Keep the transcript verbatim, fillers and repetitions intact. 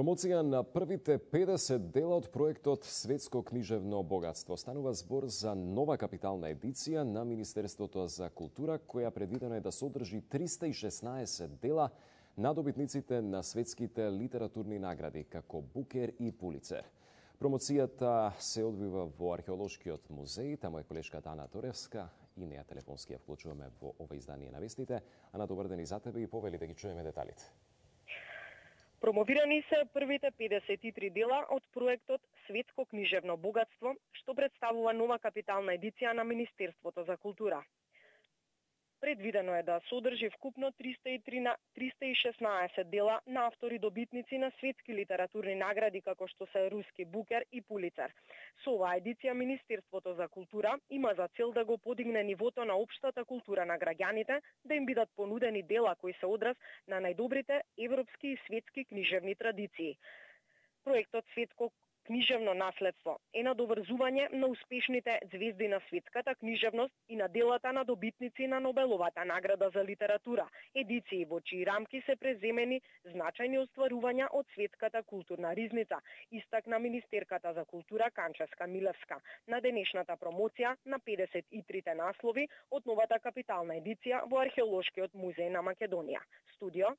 Промоција на првите педесет дела од проектот Светско книжевно богатство. Станува збор за нова капитална едиција на Министерството за култура, која предвидено е да содржи триста и шеснаесет дела на добитниците на светските литературни награди, како Букер и Пулицер. Промоцијата се одвива во Археолошкиот музеј, таму е колешката Ана Торевска и неја телефонски ја вклучуваме во ова издание на вестите. Ана, добар ден и за тебе и повели да ги чуеме деталите. Промовирани се првите педесет и три дела од проектот Светско книжевно богатство, што представува нова капитална едиција на Министерството за култура. Предвидено е да содржи вкупно триста и шеснаесет дела на автори добитници на светски литературни награди, како што се руски Букер и Пулицер. Со оваа едиција Министерството за култура има за цел да го подигне нивото на општата култура на граѓаните, да им бидат понудени дела кои се одраз на најдобрите европски и светски книжевни традиции. Проектот Светско книжевно наследство е надоврзување на успешните звезди на светската книжевност и на делата на добитници на Нобеловата награда за литература, едиции во чии рамки се преземени значајни остварувања од светската културна ризница, истакна министерката за култура Канческа Милевска на денешната промоција на педесет и трите наслови од новата капитална едиција во Археолошкиот музеј на Македонија. Студио